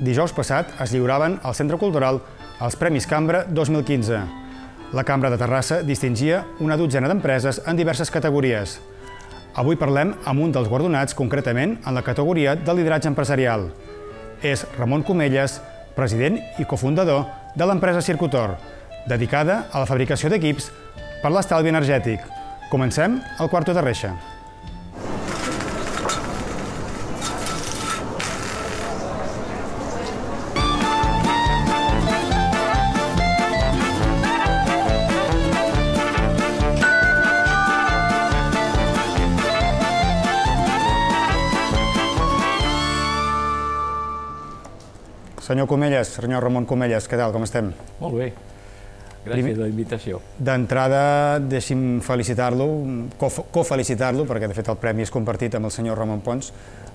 Dijous passat es lliuraven al Centre Cultural els Premis Cambra 2015. La Cambra de Terrassa distingia una dotzena d'empreses en diverses categories. Avui parlem amb un dels guardonats, concretament en la categoria de lideratge empresarial. És Ramon Comelles, president i cofundador de l'empresa Circutor, dedicada a la fabricació d'equips per l'estalvi energètic. Comencem al Quarto de Reixa. Senyor Comelles, senyor Ramon Comelles, què tal, com estem? Molt bé, gràcies per la invitació. D'entrada, deixi'm felicitar-lo, cofelicitar-lo, perquè de fet el premi és compartit amb el senyor Ramon Pons,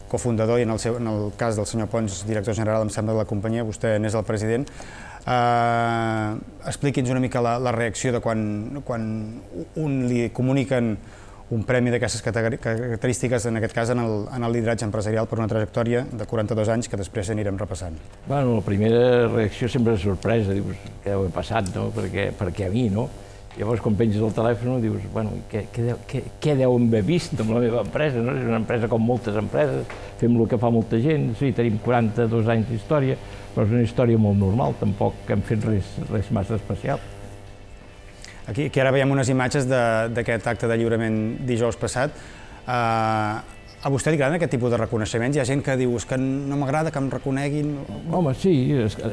cofundador, i en el cas del senyor Pons, director general, em sembla, de la companyia, vostè n'és el president. Expliqui'ns una mica la reacció de quan li comuniquen un premi d'aquestes característiques, en aquest cas en el lideratge empresarial, per una trajectòria de 42 anys que després anirem repassant. Bueno, la primera reacció sempre és sorpresa, dius, què deu haver passat, no? Perquè a mi, no? Llavors, quan penges el telèfon, dius, bueno, què deu haver vist amb la meva empresa, no? És una empresa com moltes empreses, fem el que fa molta gent, sí, tenim 42 anys d'història, però és una història molt normal, tampoc hem fet res massa especial. Aquí ara veiem unes imatges d'aquest acte de lliurament dijous passat. A vostè li agraden aquest tipus de reconeixements? Hi ha gent que diu que no m'agrada que em reconeguin... Home, sí,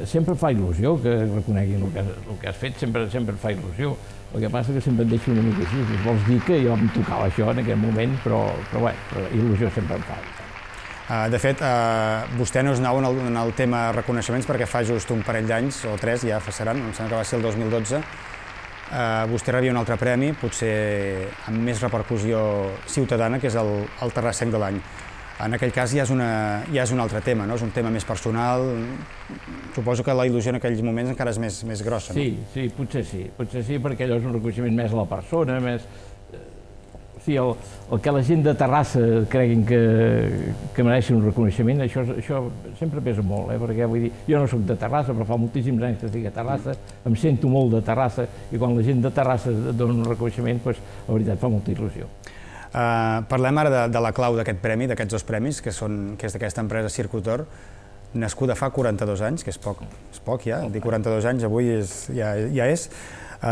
sempre fa il·lusió que reconeguin el que has fet, sempre fa il·lusió. El que passa és que sempre et deixo una mica així. Vols dir que jo em tocava això en aquell moment, però bé, il·lusió sempre em fa. De fet, vostè no és nou en el tema reconeixements perquè fa just un parell d'anys, o 3, ja seran, em sembla que va ser el 2012, vostè rebia un altre premi, potser amb més repercussió ciutadana, que és el Terrassenc de l'any. En aquell cas ja és un altre tema, no? És un tema més personal. Suposo que la il·lusió en aquells moments encara és més grossa, no? Sí, potser sí, perquè allò és un reconeixement més a la persona, més... Sí, el que la gent de Terrassa creguin que mereixen un reconeixement, això sempre pesa molt, perquè vull dir, jo no soc de Terrassa, però fa moltíssims anys que estic a Terrassa, em sento molt de Terrassa, i quan la gent de Terrassa dona un reconeixement, doncs, la veritat, fa molta il·lusió. Parlem ara de la clau d'aquest premi, d'aquests dos premis, que és d'aquesta empresa Circutor, nascuda fa 42 anys, que és poc ja, dir 42 anys avui ja és,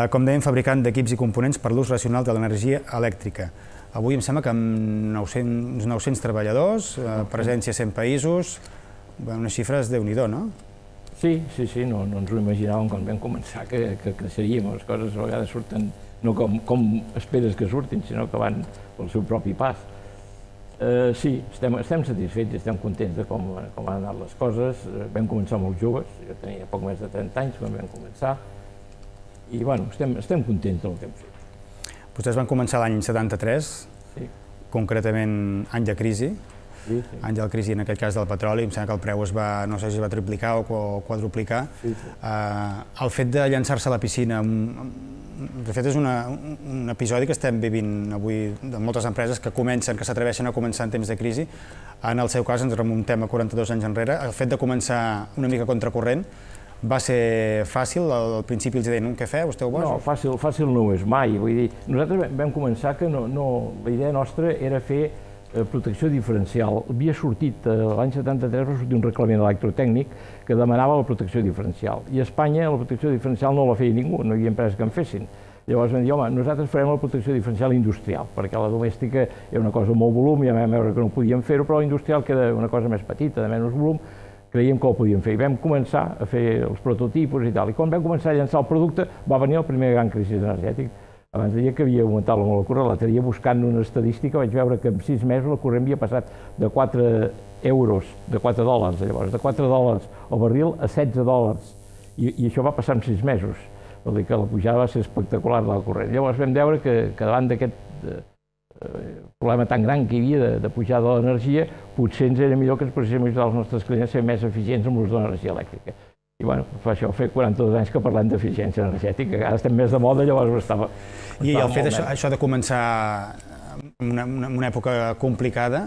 com dèiem, fabricant d'equips i components per l'ús racional de l'energia elèctrica. Avui em sembla que amb 900 treballadors, presència a 100 països, unes xifres Déu-n'hi-do, no? Sí, no ens ho imaginàvem quan vam començar que creixeríem, les coses a vegades surten no com esperes que surtin, sinó que van pel seu propi pas. Sí, estem satisfets i estem contents de com han anat les coses. Vam començar molt joves, jo tenia poc més de 30 anys quan vam començar, i bueno, estem contents del que hem fet. Vostès van començar l'any 73, concretament any de crisi, any de la crisi en aquell cas del petroli, em sembla que el preu no sé si es va triplicar o quadruplicar. El fet de llançar-se a la piscina, de fet és un episodi que estem vivint avui de moltes empreses que s'atreveixen a començar en temps de crisi. En el seu cas ens remuntem a 42 anys enrere. El fet de començar una mica contracorrent va ser fàcil? Al principi els deien, què feu, esteu bons? No, fàcil no ho és mai. Vull dir, nosaltres vam començar que la idea nostra era fer protecció diferencial. Havia sortit, l'any 73 va sortir un reglament electrotècnic que demanava la protecció diferencial. I a Espanya la protecció diferencial no la feia ningú, no hi havia empreses que en fessin. Llavors vam dir, home, nosaltres farem la protecció diferencial industrial, perquè la domèstica era una cosa amb molt volum, ja vam veure que no podíem fer-ho, però la industrial, que era una cosa més petita, de menys volum, creiem que ho podíem fer. I vam començar a fer els prototipus i tal. I quan vam començar a llançar el producte va venir el primer gran crisi energètic. Abans deia que havia augmentat la corrent, l'altre dia buscant una estadística vaig veure que en 6 mesos la corrent havia passat de 4 euros, de 4 dòlars, llavors, de 4 dòlars al barril a 16 dòlars. I això va passar en 6 mesos. Vol dir que la pujada va ser espectacular de la corrent. Llavors vam veure que davant d'aquest problema tan gran que hi havia de pujada de l'energia, potser ens era millor que ens poséssim a ajudar els nostres clients a ser més eficients amb l'ús de l'energia elèctrica. I bueno, fa 42 anys que parlem d'eficiència energètica, ara estem més de moda, llavors estava... I el fet això de començar en una època complicada,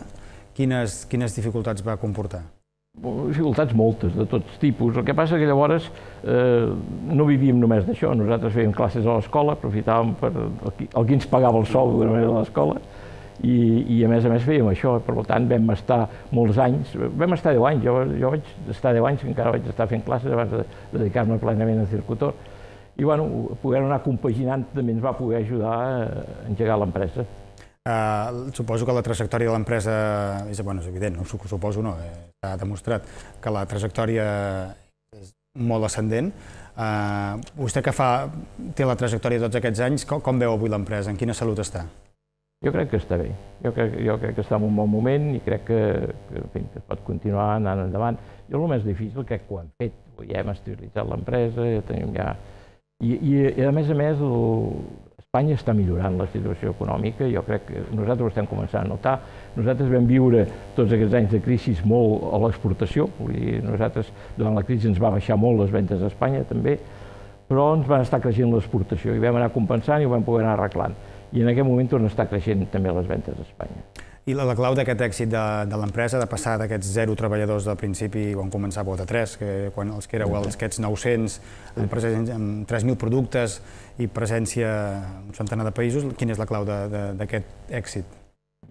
quines dificultats va comportar? Dificultats moltes, de tots tipus. El que passa que llavors no vivíem només d'això. Nosaltres fèiem classes a l'escola, aprofitàvem per el que ens pagava el sou d'una manera a l'escola i a més fèiem això. Per tant, vam estar molts anys, vam estar 10 anys, jo vaig estar 10 anys, encara vaig estar fent classes abans de dedicar-me plenament a circutor. I bueno, poder anar compaginant també ens va poder ajudar a engegar l'empresa. Suposo que la trajectòria de l'empresa és evident, suposo no, s'ha demostrat que la trajectòria és molt ascendent. Vostè que té la trajectòria tots aquests anys, com veu avui l'empresa? En quina salut està? Jo crec que està bé. Jo crec que està en un bon moment i crec que es pot continuar anant endavant. Jo el més difícil crec que ho hem fet. Ja hem estabilitzat l'empresa, ja tenim ja... I a més, Espanya està millorant la situació econòmica, jo crec que nosaltres ho estem començant a notar. Nosaltres vam viure tots aquests anys de crisi molt a l'exportació, nosaltres durant la crisi ens va baixar molt les ventes a Espanya també, però ens van estar creixent l'exportació i vam anar compensant i ho vam poder anar arreglant. I en aquest moment tornen a estar creixent també les ventes a Espanya. I la clau d'aquest èxit de l'empresa, de passar d'aquests 0 treballadors del principi, quan començàveu de 3, quan els que éreu aquests 900, amb 3.000 productes i presència en un centenar de països, quina és la clau d'aquest èxit?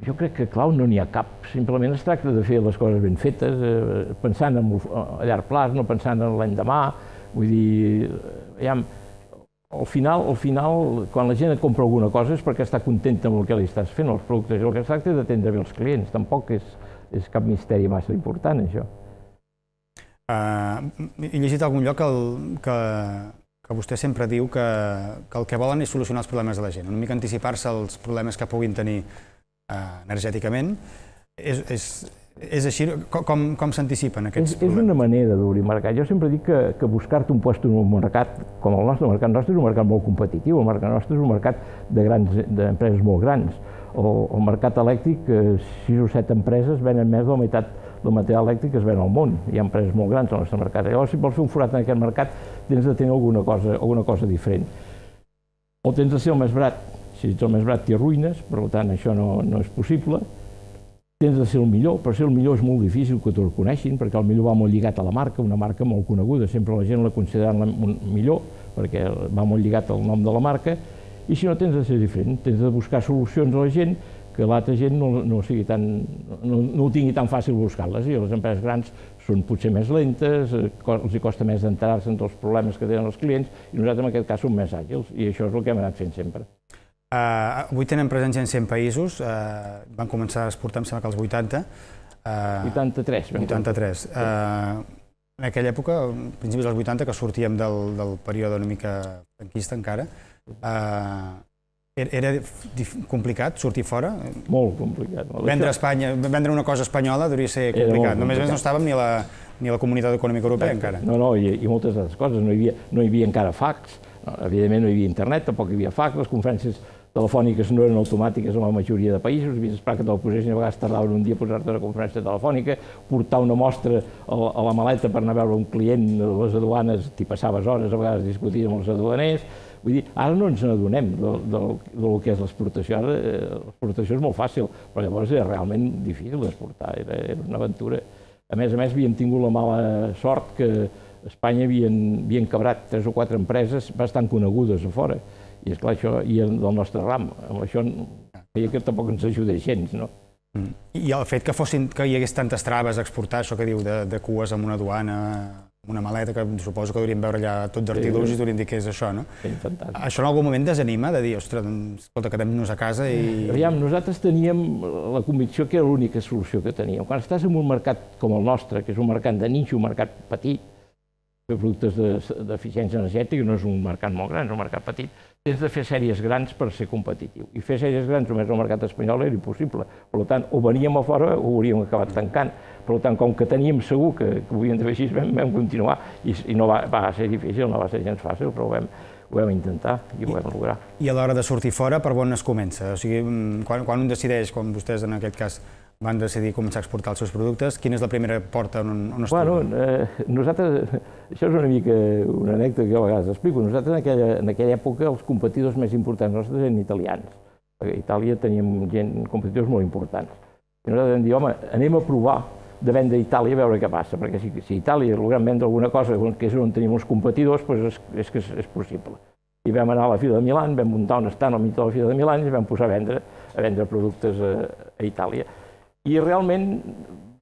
Jo crec que clau no n'hi ha cap, simplement es tracta de fer les coses ben fetes, pensant a llarg plaç, no pensant en l'endemà, vull dir, al final, quan la gent et compra alguna cosa és perquè està contenta amb el que li estàs fent, els productes. El que es tracta és d'atendre bé els clients, tampoc és cap misteri massa important, això. He llegit a algun lloc que vostè sempre diu que el que volen és solucionar els problemes de la gent, una mica anticipar-se als problemes que puguin tenir energèticament. És així? Com s'anticipen aquests problemes? És una manera d'obrir mercat. Jo sempre dic que buscar-te un lloc en un mercat com el nostre, és un mercat molt competitiu, el mercat nostre és un mercat d'empreses molt grans. El mercat elèctric, 6 o 7 empreses venen més de la meitat del material elèctric que es ven al món. Hi ha empreses molt grans al nostre mercat. Llavors, si vols fer un forat en aquest mercat, tens de tenir alguna cosa diferent. O tens de ser el més barat. Si ets el més barat t'hi arruïnes, per tant, això no és possible. Tens de ser el millor, però ser el millor és molt difícil que t'ho reconeixin, perquè el millor va molt lligat a la marca, una marca molt coneguda, sempre la gent la considera millor, perquè va molt lligat al nom de la marca, i si no tens de ser diferent, tens de buscar solucions a la gent, que l'altra gent no ho tingui tan fàcil buscar-les, i les empreses grans són potser més lentes, els costa més enterar-se dels problemes que tenen els clients, i nosaltres en aquest cas som més àgils, i això és el que hem anat fent sempre. Avui tenen presència en 100 països, van començar a exportar, em sembla que als 80. 83. 83. En aquella època, a principis dels 80, que sortíem del període una mica franquista encara, era complicat sortir fora? Molt complicat. Vendre una cosa espanyola devia ser complicat. Només no estàvem ni a la Comunitat Econòmica Europea encara. No, i moltes altres coses. No hi havia encara fax, evidentment no hi havia internet, tampoc hi havia fax, les conferències telefòniques no eren automàtiques en la majoria de països, havies d'esperar que te'l posessin, a vegades tardaven un dia a posar-te una conferència telefònica, portar una mostra a la maleta per anar a veure un client de les aduanes, t'hi passaves hores, a vegades discuties amb els aduaners. Vull dir, ara no ens n'adonem del que és l'exportació. Ara l'exportació és molt fàcil, però llavors era realment difícil d'exportar, era una aventura. A més, havíem tingut la mala sort que a Espanya havien quebrat 3 o 4 empreses bastant conegudes a fora. I esclar, això i del nostre ram. Amb això feia que tampoc ens ajudés gens, no? I el fet que hi hagués tantes traves a exportar, això que diu de cues amb una aduana, amb una maleta, que suposo que hauríem veure allà tot d'artilugis i hauríem dit que és això, no? Això en algun moment desanima, de dir, ostres, escolta, quedem-nos a casa i... Aviam, nosaltres teníem la convicció que era l'única solució que teníem. Quan estàs en un mercat com el nostre, que és un mercat de nicho, un mercat petit, fer productes d'eficiència energètica, no és un mercat molt gran, és un mercat petit, tens de fer sèries grans per ser competitiu. I fer sèries grans només al mercat espanyol era impossible. Per tant, o veníem a fora o hauríem acabat tancant. Per tant, com que teníem segur que ho havíem de fer així, vam continuar. I no va ser difícil, no va ser gens fàcil, però ho vam intentar i ho vam lograr. I a l'hora de sortir fora, per on es comença? O sigui, quan un decideix, com vostès en aquest cas van decidir començar a exportar els seus productes, quina és la primera porta on es troba? Nosaltres, això és una mica una anècdota que a vegades explico, nosaltres en aquella època els competidors més importants nostres eren italians. A Itàlia teníem competidors molt importants. I nosaltres vam dir, home, anem a provar de vendre a Itàlia a veure què passa, perquè si Itàlia logrem vendre alguna cosa que és on tenim els competidors, doncs és que és possible. I vam anar a la Fira de Milà, vam muntar un estand al mig de la Fira de Milà i vam posar a vendre productes a Itàlia. I realment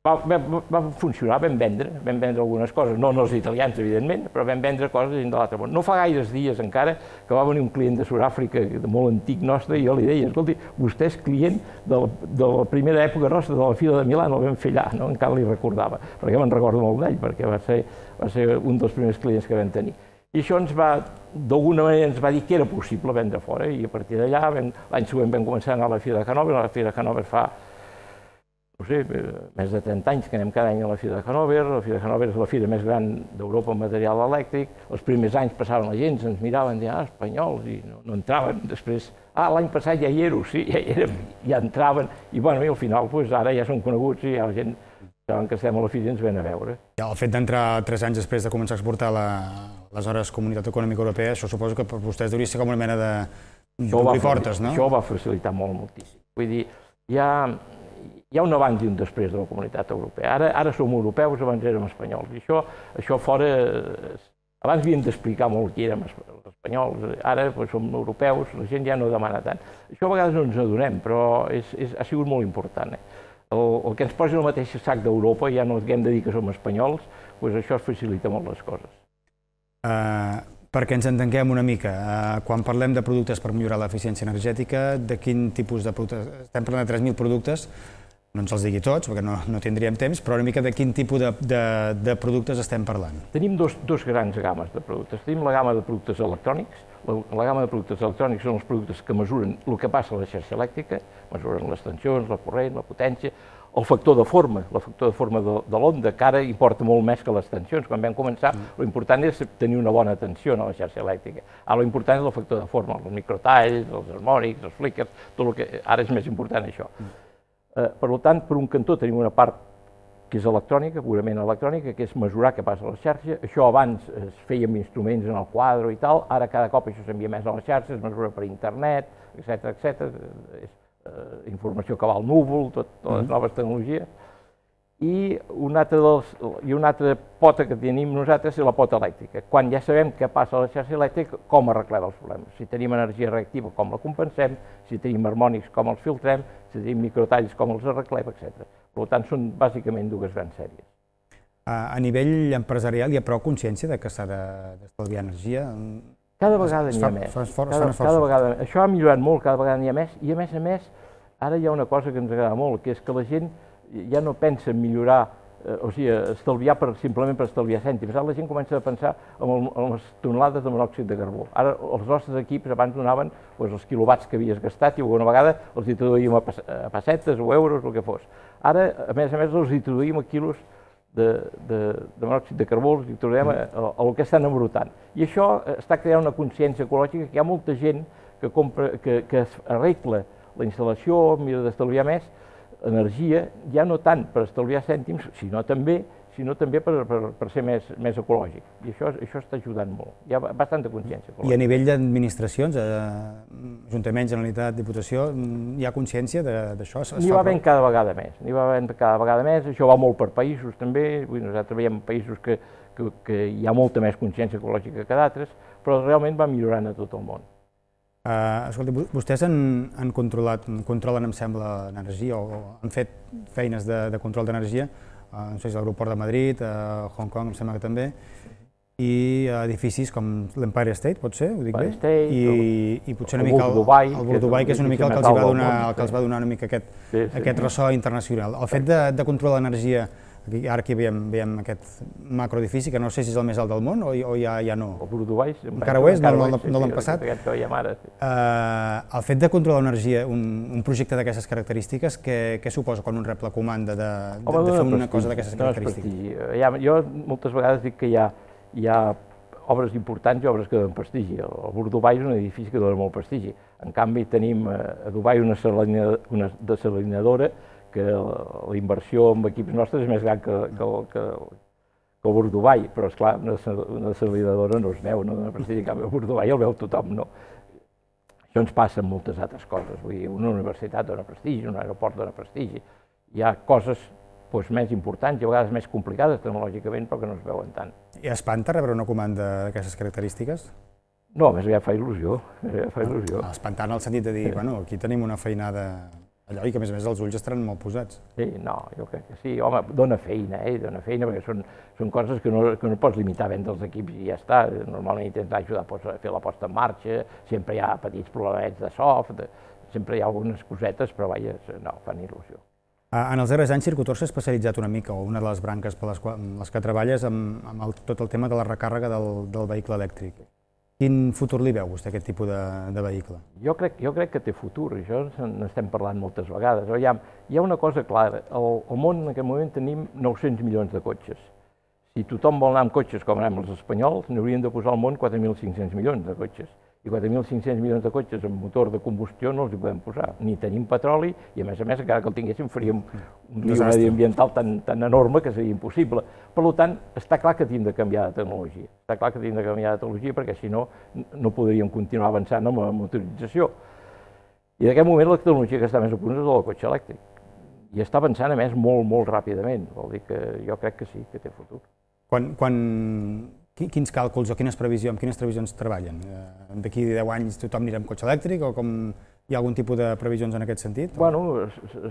va funcionar, vam vendre algunes coses, no els italians, evidentment, però vam vendre coses de l'altre món. No fa gaires dies encara que va venir un client de Sud-àfrica, molt antic nostre, i jo li deia, escolti, vostè és client de la primera època nostra de la Fira de Milà, el vam fer allà, encara li recordava, perquè me'n recordo molt d'ell, perquè va ser un dels primers clients que vam tenir. I això d'alguna manera ens va dir que era possible vendre fora, i a partir d'allà, l'any següent vam començar a anar a la Fira de Hannover. La Fira de Hannover fa, no sé, més de 30 anys que anem cada any a la Fira de Hannover. La Fira de Hannover és la fira més gran d'Europa en material elèctric. Els primers anys passaven la gent, ens miraven i deien, espanyols, i no entraven. Després, l'any passat ja hi éreu, sí, ja entraven, i bueno, i al final ara ja són coneguts i ja la gent saben que estem a la fira i ens ven a veure. El fet d'entrar 3 anys després de començar a exportar aleshores Comunitat Econòmica Europea, això suposo que per vostès hauria de ser com una mena d'obrir portes, no? Això va facilitar moltíssim. Vull dir, hi ha un abans i un després de la Comunitat Europea. Ara som europeus, abans érem espanyols. I això fora... Abans havíem d'explicar molt qui érem els espanyols, ara som europeus, la gent ja no demana tant. Això a vegades no ens adonem, però ha sigut molt important. El que ens posi el mateix sac d'Europa, ja no hem de dir que som espanyols, doncs això facilita molt les coses. Perquè ens entenguem una mica, quan parlem de productes per millorar l'eficiència energètica, de quin tipus de productes? Estem parlant de 3.000 productes, no ens els digui tots, perquè no tindríem temps, però una mica de quin tipus de productes estem parlant? Tenim dos grans games de productes. Tenim la gamma de productes electrònics. La gamma de productes electrònics són els productes que mesuren el que passa a la xarxa elèctrica, mesuren les tensions, la corrent, la potència, el factor de forma de l'onda, que ara importa molt més que les tensions. Quan vam començar, l'important és tenir una bona tensió a la xarxa elèctrica. Ara l'important és el factor de forma, els microtalls, els harmònics, els flickers, tot el que ara és més important això. Per tant, per un cantó tenim una part que és electrònica, purament electrònica, que és mesurar què passa a la xarxa. Això abans es feia amb instruments en el quadre i tal, ara cada cop això s'envia més a la xarxa, es mesura per internet, etc. És informació que va al núvol, totes les noves tecnologies. I una altra pota que tenim nosaltres és la pota elèctrica. Quan ja sabem què passa a la xarxa elèctrica, com arreglem els problemes. Si tenim energia reactiva, com la compensem, si tenim harmònics, com els filtrem, si tenim microtalls, com els arreglem, etc. Per tant, són bàsicament dues grans sèries. A nivell empresarial hi ha prou consciència que s'ha d'estalviar energia? Cada vegada n'hi ha més. Això ha millorat molt, cada vegada n'hi ha més, i a més, ara hi ha una cosa que ens agrada molt, que és que la gent ja no pensa en millorar, o sigui, estalviar simplement per estalviar cèntims. Ara la gent comença a pensar en les tonelades de monòxid de carbó. Ara els nostres equips abans donaven els quilowatts que havies gastat i alguna vegada els hi traduïm a pessetes o euros, el que fos. Ara, a més, els hi traduïm a quilos de monòxid de carbó, els hi traduïm el que estan embrutant. I això està creant una consciència ecològica, que hi ha molta gent que arregla la instal·lació, mira d'estalviar més energia, ja no tant per estalviar cèntims, sinó també per ser més ecològic. I això està ajudant molt. Hi ha bastanta consciència ecològica. I a nivell d'administracions, Ajuntament, Generalitat, Diputació, hi ha consciència d'això? N'hi va havent cada vegada més. Això va molt per països també. Nosaltres veiem països que hi ha molta més consciència ecològica que d'altres, però realment va millorant a tot el món. Escolti, vostès controlen, em sembla, l'energia, o han fet feines de control d'energia, no sé si l'aeroport de Madrid, a Hong Kong, em sembla que també, i edificis com l'Empire State, pot ser, ho dic bé? I potser una mica el Dubai, que és una mica el que els va donar una mica aquest ressò internacional. El fet de controlar l'energia, ara aquí veiem aquest macroedifici, que no sé si és el més alt del món o ja no. El Dubai encara ho és, no l'han passat. El fet de controlar l'energia, un projecte d'aquestes característiques, què suposa quan un rep la comanda de fer una cosa d'aquestes característiques? Jo moltes vegades dic que hi ha obres importants i obres que donen prestigi. El Dubai és un edifici que dona molt prestigi. En canvi, tenim a Dubai una desalinadora que la inversió en equips nostres és més gran que el Burj Dubai, però esclar, una desalinadora no es veu, no dona prestigi, en canvi el Burj Dubai el veu tothom, no? Això ens passa amb moltes altres coses, vull dir, una universitat dona prestigi, un aeroport dona prestigi, hi ha coses més importants i a vegades més complicades tecnològicament, però que no es veuen tant. I espanta rebre una comanda d'aquestes característiques? No, més aviat fa il·lusió, fa il·lusió. Espantar en el sentit de dir, bueno, aquí tenim una feinada allò, i que a més els ulls estaran molt posats. Sí, no, jo crec que sí. Home, dona feina, perquè són coses que no pots limitar a vendre els equips i ja està. Normalment intentar ajudar a fer la posta en marxa, sempre hi ha petits problemets de soft, sempre hi ha algunes cosetes, però vaja, no, fan il·lusió. En els darrers anys, Circutor s'ha especialitzat una mica, o una de les branques per les que treballes, amb tot el tema de la recàrrega del vehicle elèctric. Quin futur li veu vostè, aquest tipus de vehicle? Jo crec que té futur, això n'estem parlant moltes vegades. Hi ha una cosa clara, al món en aquest moment tenim 900 milions de cotxes. Si tothom vol anar amb cotxes com anem els espanyols, n'hauríem de posar al món 4.500 milions de cotxes. I 4.500 milions de cotxes amb motor de combustió no els hi podem posar. Ni tenim petroli i, a més, encara que el tinguéssim, faríem un lío mediambiental tan enorme que seria impossible. Per tant, està clar que hem de canviar de tecnologia. Està clar que hem de canviar de tecnologia perquè, si no, no podríem continuar avançant amb la motorització. I en aquest moment la tecnologia que està més a punt és la del cotxe elèctric. I està avançant, a més, molt, molt ràpidament. Vol dir que jo crec que sí, que té futur. Quins càlculs o quines previsions treballen? D'aquí 10 anys tothom anirà amb cotxe elèctric o hi ha algun tipus de previsions en aquest sentit? Bueno,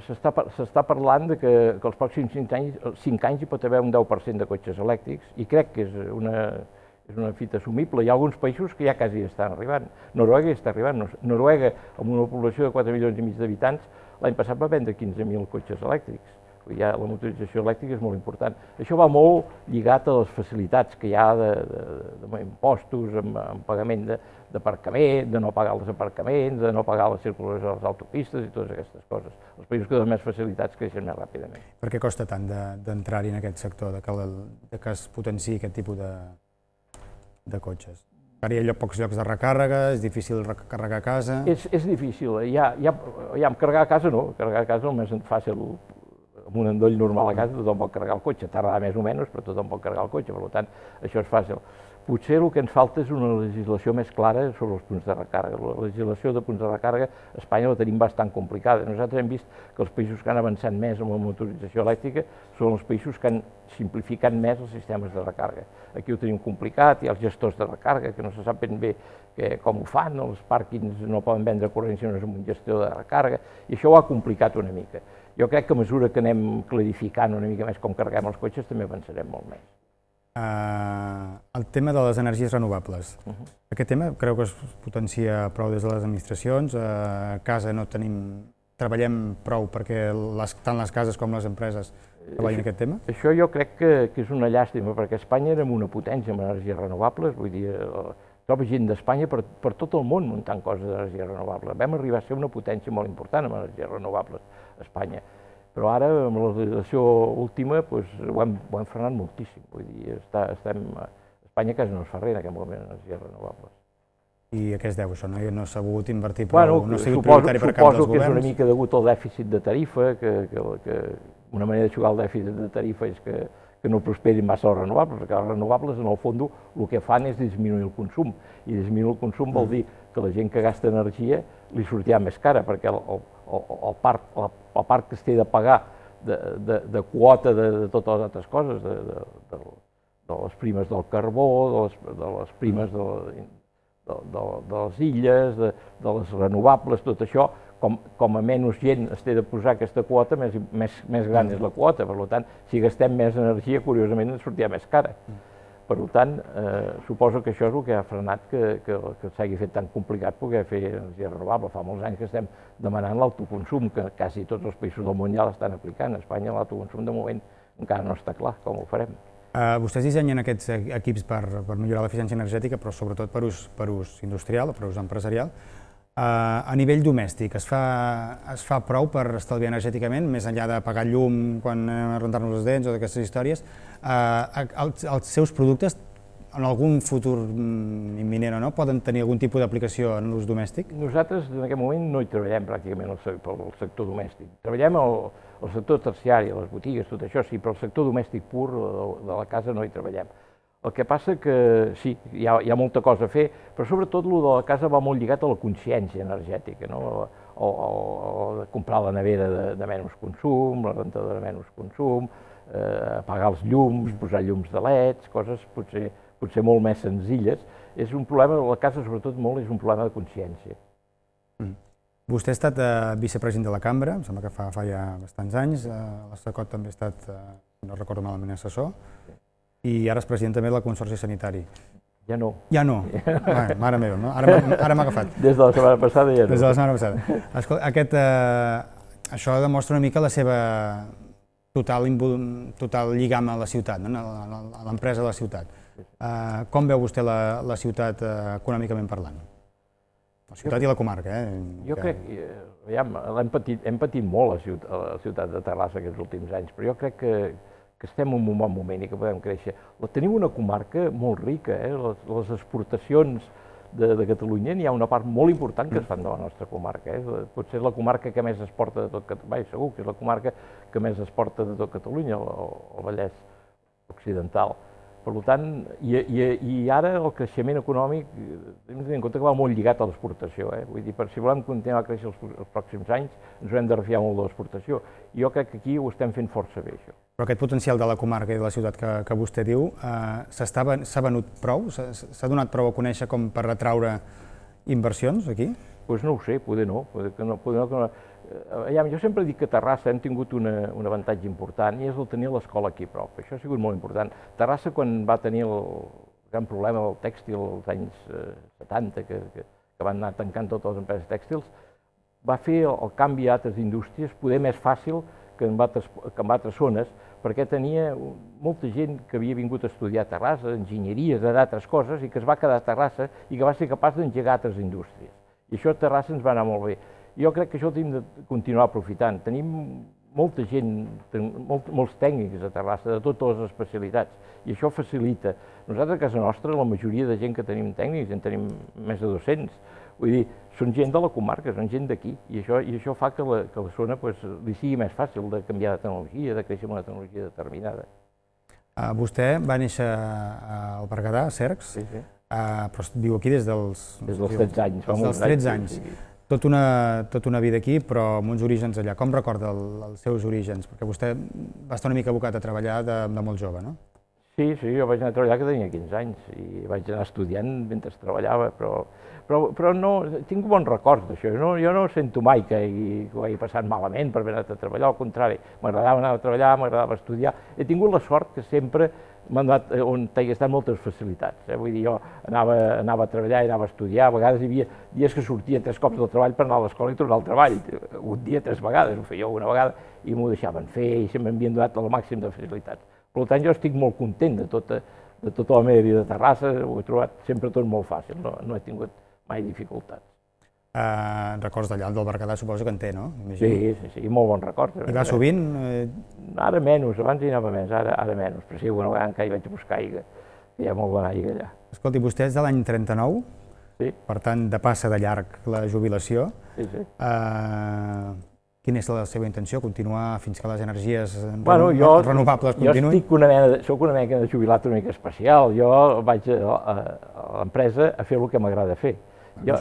s'està parlant que els pròxims 5 anys hi pot haver un 10% de cotxes elèctrics i crec que és una fita assumible. Hi ha alguns països que ja quasi estan arribant. Noruega hi està arribant. Noruega, amb una població de 4 milions i mig d'habitants, l'any passat va vendre 15.000 cotxes elèctrics. La motorització elèctrica és molt important. Això va molt lligat a les facilitats que hi ha d'impostos, amb pagament d'aparcament, de no pagar els aparcaments, de no pagar les circulacions a les autopistes i totes aquestes coses. Els països que donen més facilitats creixen més ràpidament. Per què costa tant d'entrar-hi en aquest sector, que es potenciï aquest tipus de cotxes? Ara hi ha pocs llocs de recàrrega, és difícil carregar a casa... És difícil. Carregar a casa no, carregar a casa és més fàcil. Amb un endoll normal a casa tothom pot carregar el cotxe, tardarà més o menys, però tothom pot carregar el cotxe, per tant, això és fàcil. Potser el que ens falta és una legislació més clara sobre els punts de recàrrega. La legislació de punts de recàrrega a Espanya la tenim bastant complicada. Nosaltres hem vist que els països que han avançat més amb la motorització elèctrica són els països que han simplificat més els sistemes de recàrrega. Aquí ho tenim complicat, hi ha els gestors de recàrrega que no se sap ben bé com ho fan, els pàrquings no poden vendre corrent si no és amb un gestor de recàrrega, i això ho ha complicat una mica. Jo crec que a mesura que anem clarificant una mica més com carreguem els cotxes també avançarem molt més. El tema de les energies renovables. Aquest tema creu que es potencia prou des de les administracions? A casa no treballem prou perquè tant les cases com les empreses treballin aquest tema? Això jo crec que és una llàstima, perquè a Espanya érem una potència en energies renovables, vull dir, trobo gent d'Espanya per tot el món muntant coses d'energies renovables. Vam arribar a ser una potència molt important en energies renovables a Espanya. Però ara, amb la legislació última, ho hem frenat moltíssim. Vull dir, Espanya quasi no es fa res en aquest moment en energies renovables. I a què es deu això? No s'ha volgut invertir prou? No ha sigut prioritari per cap dels governs? Suposo que és una mica degut al dèficit de tarifa, que una manera de jugar al dèficit de tarifa és que no prosperin massa les renovables, perquè les renovables, en el fons, el que fan és disminuir el consum, i disminuir el consum vol dir que la gent que gasta energia li sortirà més cara, perquè el parc que es té de pagar de quota de totes les altres coses, de les primes del carbó, de les primes de les illes, de les renovables, tot això, com a menys gent es té de posar aquesta quota, més gran és la quota. Per tant, si gastem més energia, curiosament ens sortirà més cara. Per tant, suposo que això és el que ha frenat que s'hagi fet tan complicat poder fer energia renovable. Fa molts anys que estem demanant l'autoconsum, que quasi tots els països del món ja l'estan aplicant. A Espanya l'autoconsum de moment encara no està clar com ho farem. Vostès dissenyen aquests equips per millorar l'eficiència energètica, però sobretot per ús industrial o per ús empresarial. A nivell domèstic, es fa prou per estalviar energèticament, més enllà de pagar llum quan anem a rentar-nos les dents o d'aquestes històries? Els seus productes, en algun futur imminent o no, poden tenir algun tipus d'aplicació en l'ús domèstic? Nosaltres en aquest moment no hi treballem pràcticament pel sector domèstic. Treballem el sector terciari, les botigues, tot això sí, però el sector domèstic pur de la casa no hi treballem. El que passa que sí, hi ha molta cosa a fer, però sobretot el de la casa va molt lligat a la consciència energètica. o comprar la nevera de menys consum, la rentadora de menys consum, apagar els llums, posar llums de leds, coses potser molt més senzilles. És un problema, la casa sobretot molt, és un problema de consciència. Vostè ha estat vicepresident de la Cambra, em sembla que fa ja bastants anys, l'Estacot també ha estat, no recordo malament, assessor, i ara és president també del Consorci Sanitari. Ja no. Ja no? Mare meva, no? Ara m'ha agafat. Des de la setmana passada ja no. Des de la setmana passada. Escolta, això demostra una mica la seva total lligam a la ciutat, a l'empresa de la ciutat. Com veu vostè la ciutat econòmicament parlant? La ciutat i la comarca, Jo crec que hem patit molt a la ciutat de Terrassa aquests últims anys, però jo crec que estem en un bon moment i que podem créixer. Tenim una comarca molt rica, les exportacions de Catalunya, n'hi ha una part molt important que es fan de la nostra comarca. Potser és la comarca que més exporta de tot Catalunya, segur que és la comarca que més exporta de tot Catalunya, el Vallès Occidental. Per tant, i ara el creixement econòmic, hem de tenir en compte que va molt lligat a l'exportació. Vull dir, si volem continuar a créixer els pròxims anys, ens haurem de refiar molt de l'exportació. I jo crec que aquí ho estem fent força bé, això. Però aquest potencial de la comarca i de la ciutat que vostè diu, s'ha venut prou? S'ha donat prou a conèixer com per atraure inversions aquí? Doncs no ho sé, poder no. Jo sempre dic que a Terrassa hem tingut un avantatge important i és el tenir l'escola aquí a prop. Això ha sigut molt important. Terrassa, quan va tenir el gran problema del tèxtil als anys 70, que van anar tancant totes les empreses tèxtils, va fer el canvi a altres indústries poder més fàcil que en altres zones, perquè tenia molta gent que havia vingut a estudiar a Terrassa, enginyeries, d'altres coses, i que es va quedar a Terrassa i que va ser capaç d'engegar altres indústries. I això a Terrassa ens va anar molt bé. Jo crec que això ho hem de continuar aprofitant. Tenim molta gent, molts tècnics a Terrassa, de totes les especialitats, i això facilita. Nosaltres a casa nostra, la majoria de gent que tenim tècnics, en tenim més de 200, vull dir, són gent de la comarca, són gent d'aquí, i això fa que la zona li sigui més fàcil de canviar de tecnologia, de créixer amb una tecnologia determinada. Vostè va néixer al Berguedà, a Cercs, però viu aquí des dels 13 anys. Des dels 13 anys. Tota una vida aquí, però amb uns orígens allà. Com recorda els seus orígens? Perquè vostè va estar una mica abocat a treballar de molt jove, no? Sí, jo vaig anar a treballar que tenia 15 anys i vaig anar estudiant mentre treballava, però no, tinc bons records d'això. Jo no sento mai que ho hagi passat malament per haver anat a treballar, al contrari, m'agradava anar a treballar, m'agradava estudiar. He tingut la sort que sempre m'han donat on hi estan moltes facilitats. Vull dir, jo anava a treballar i anava a estudiar, a vegades hi havia dies que sortia 3 cops del treball per anar a l'escola i tornar al treball. Un dia 3 vegades, ho feia una vegada, i m'ho deixaven fer i sempre m'havien donat el màxim de facilitats. Per tant, jo estic molt content de tota la meva vida a Terrassa, ho he trobat sempre tot molt fàcil, no he tingut mai dificultats. Records d'allà del Berguedà suposo que en té, no? Sí, molt bons records. I va sovint? Ara menys, abans hi anava més, ara menys, però sí, una vegada encara hi vaig a buscar aigua, que hi ha molt bona aigua allà. Escolti, vostè és de l'any 39, per tant, de passa de llarg la jubilació. Quina és la seva intenció? Continuar fins que les energies renovables continuïn? Jo soc una mena de jubilat una mica especial. Jo vaig a l'empresa a fer el que m'agrada fer. Jo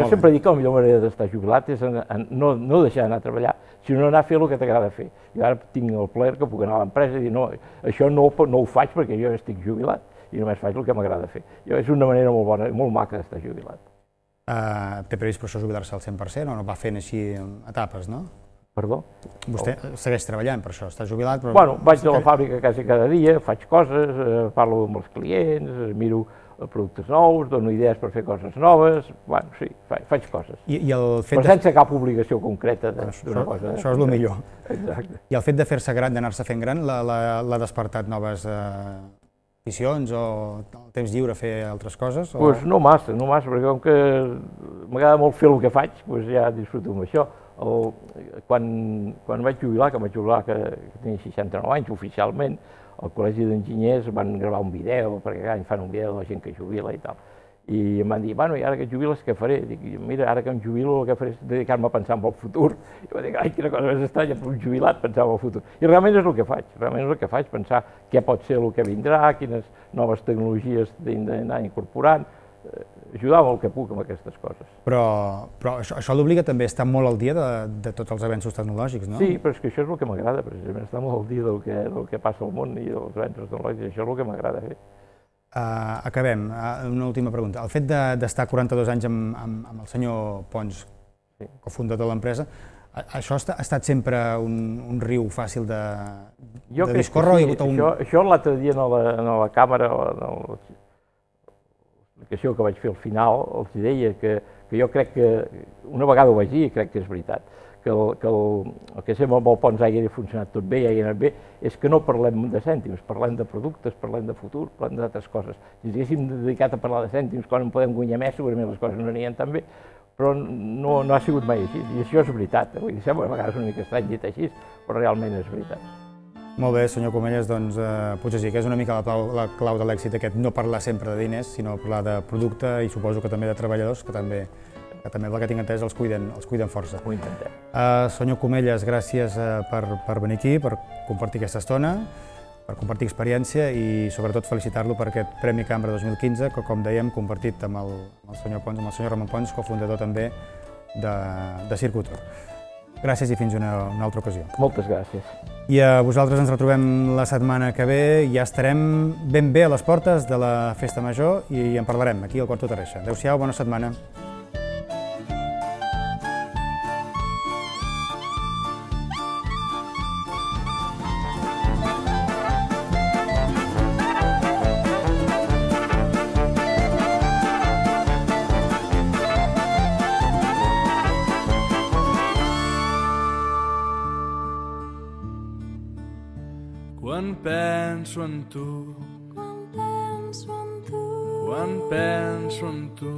sempre dic que la millor manera d'estar jubilat és no deixar d'anar a treballar, sinó anar a fer el que t'agrada fer. Jo ara tinc el plaer que puc anar a l'empresa i dir no, això no ho faig perquè jo estic jubilat i només faig el que m'agrada fer. És una manera molt bona, molt maca d'estar jubilat. Té previst per això jubilar-se al 100% o no va fent així etapes, no? Perdó? Vostè segueix treballant per això, està jubilat però... Bueno, vaig a la fàbrica quasi cada dia, faig coses, parlo amb els clients, miro productes nous, dono idees per fer coses noves, bueno, sí, faig coses. Però sense cap obligació concreta d'una cosa. Això és el millor. Exacte. I el fet de fer-se gran, d'anar-se fent gran, l'ha despertat noves aficions o el temps lliure a fer altres coses? Doncs no massa, perquè com que m'agrada molt fer el que faig, ja disfruto amb això. Quan vaig jubilar, que tenia 69 anys oficialment, al Col·legi d'Enginyers van gravar un vídeo, perquè cada any fan un vídeo de la gent que jubila i tal. I em van dir, bueno, i ara que et jubiles, què faré? Dic, mira, ara que em jubilo, el que faré és dedicar-me a pensar en el futur. I vaig dir, ai, quina cosa més estranya, per un jubilat, pensar en el futur. I realment és el que faig, pensar què pot ser el que vindrà, quines noves tecnologies hem d'anar incorporant. ajudar el que puc amb aquestes coses. Però això l'obliga també a estar molt al dia de tots els avenços tecnològics, no? Sí, però és que això és el que m'agrada, precisament, estar molt al dia del que passa al món i dels avenços tecnològics, això és el que m'agrada fer. Acabem. Una última pregunta. El fet d'estar 42 anys amb el senyor Pons, cofundador de l'empresa, això ha estat sempre un riu fàcil de discórrer? Això l'altre dia en la càmera, en l'explicació que vaig fer al final, els deia que jo crec que, una vegada ho vaig dir i crec que és veritat, que el que sempre amb el Pons hagi funcionat tot bé i hagi anat bé, és que no parlem de cèntims, parlem de productes, parlem de futur, parlem d'altres coses. Si ens haguéssim dedicat a parlar de cèntims, quan en podem guanyar més, segurament les coses no anirien tan bé, però no ha sigut mai així, i això és veritat. Vull dir, sembla a vegades una mica estrany dit així, però realment és veritat. Molt bé, senyor Comelles, doncs potser sí que és una mica la clau de l'èxit aquest, no parlar sempre de diners, sinó parlar de producte i suposo que també de treballadors, que també, pel que tinc entès, els cuiden força. Ho intentem. Senyor Comelles, gràcies per venir aquí, per compartir aquesta estona, per compartir experiència i sobretot felicitar-lo per aquest Premi Cambra 2015, que com dèiem, compartit amb el senyor Pons, amb el senyor Ramon Pons, cofundador també de Circutor. Gràcies i fins una altra ocasió. Moltes gràcies. I a vosaltres ens retrobem la setmana que ve, ja estarem ben bé a les portes de la Festa Major i en parlarem aquí al Quarto Terreixa. Adéu-siau, bona setmana. Quan penso en tu, quan penso en tu, quan penso en tu,